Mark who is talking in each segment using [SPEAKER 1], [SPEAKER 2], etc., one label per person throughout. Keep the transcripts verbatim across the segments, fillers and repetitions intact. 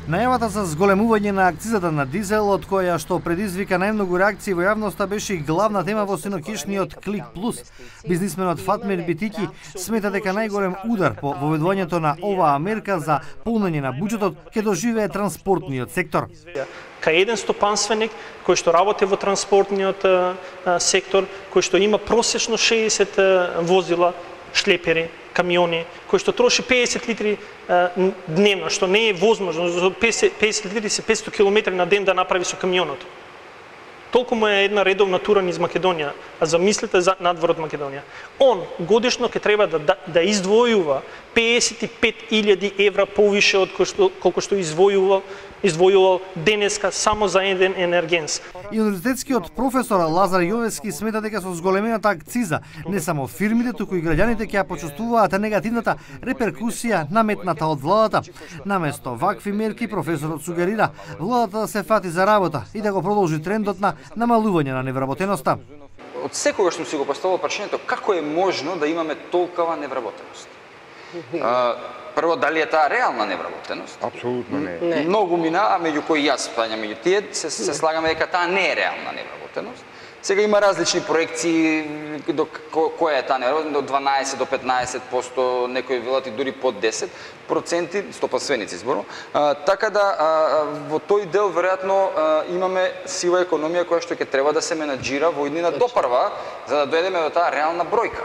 [SPEAKER 1] Најавата за зголемување на акцизата на дизелот, која што предизвика најмногу реакции во јавноста, беше и главна тема во синокишниот Клик Плюс. Бизнисменот Фатмир Битики смета дека најголем удар по воведувањето на оваа мерка за полнење на буџетот ќе доживее транспортниот сектор.
[SPEAKER 2] Кај еден стопанственик кој што работи во транспортниот а, сектор, кој што има просечно шеесет а, возила, шлепери, камиони, кои што троши пеесет литри а, дневно, што не е возможно, за пеесет литри се петстотини километри на ден да направи со камионот. Толку му е една редовна тура низ Македонија, а замислете за надвор од Македонија. Он годишно ќе треба да, да, да издвојува пеесет и пет илјади евра повише од што, колку што издвојувал, издвојувал денеска само за еден енергенс.
[SPEAKER 1] И универзитетскиот професор Лазар Јовевски смета дека со зголемената акциза не само фирмите, туку и граѓаните ќе ја почувствуваат негативната реперкусија наметната од владата. Наместо вакви мерки, професорот сугерира владата да се фати за работа и да го продолжи трендот на намалување на невработеноста.
[SPEAKER 3] Од секогаш сум си го поставил прашањето како е можно да имаме толкова невработеност. А, прво, дали е таа реална невработеност?
[SPEAKER 4] Апсолутно не.
[SPEAKER 3] не. Многу мина, а меѓу кои јас спаѓам меѓу тие, се, се слагаме дека таа не е реална невработеност. Сега има различни проекции до која е таа невработеност, од дванаесет до петнаесет проценти, некои велат и дури под десет проценти, стопанственици зборно. А, така да а, во тој дел веројатно а, имаме сива економија која што ќе треба да се менаџира во иднина допрва за да дојдеме до таа реална бројка.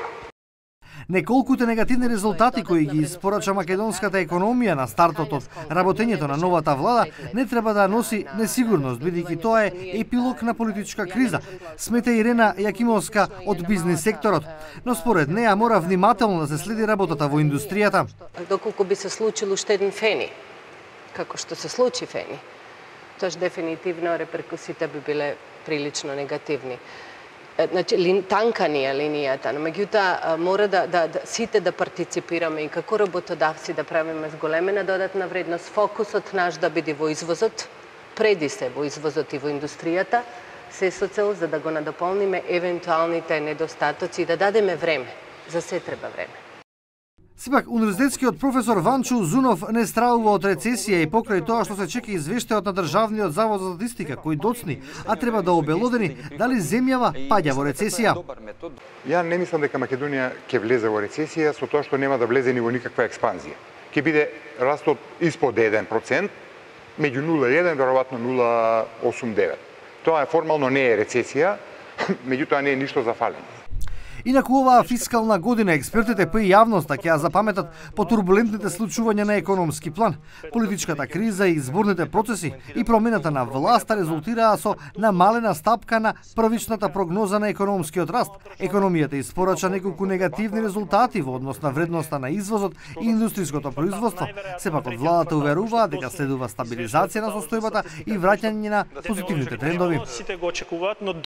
[SPEAKER 1] Неколкуте негативни резултати кои ги испорача македонската економија на стартот од работењето на новата влада не треба да носи несигурност, бидејќи тоа е епилог на политичка криза, смета Ирена Јакимовска од бизнис секторот. Но според неа мора внимателно да се следи работата во индустријата.
[SPEAKER 5] Доколку би се случил уште еден фени, како што се случи фени, тоаш дефинитивно реперкусите би биле прилично негативни. Значи, танка ни е линијата, но меѓутоа мора да, да, да сите да партиципираме и како работодавци да правиме зголемена додатна вредност, фокусот наш да биде во извозот, преди се во извозот и во индустријата, се со цел за да го надополниме евентуалните недостатоци и да дадеме време. За се треба време.
[SPEAKER 1] Сепак, универзитетскиот професор Ванчо Узунов не стравува од рецесија и покрај тоа што се чека извештајот на Државниот завод за статистика, кој доцни, а треба да обелодени дали земјава паѓа во рецесија.
[SPEAKER 4] Ја не мислам дека Македонија ќе влезе во рецесија со тоа што нема да влезе ни во никаква експанзија. Ќе биде растот испод еден процент, меѓу нула и еден, веројатно нула осум девет. Тоа е формално не е рецесија, меѓутоа не е ништо за фалење.
[SPEAKER 1] Инаку оваа фискална година експертите па и јавноста ќе ја запаметат по турбулентните случувања на економски план. Политичката криза и изборните процеси и промената на власта резултираа со намалена стапка на првичната прогноза на економскиот раст. Економијата испорача неколку негативни резултати во однос на вредноста на извозот и индустријското производство. Сепак од владата уверуваат дека следува стабилизација на состојбата и враќање на позитивните трендови.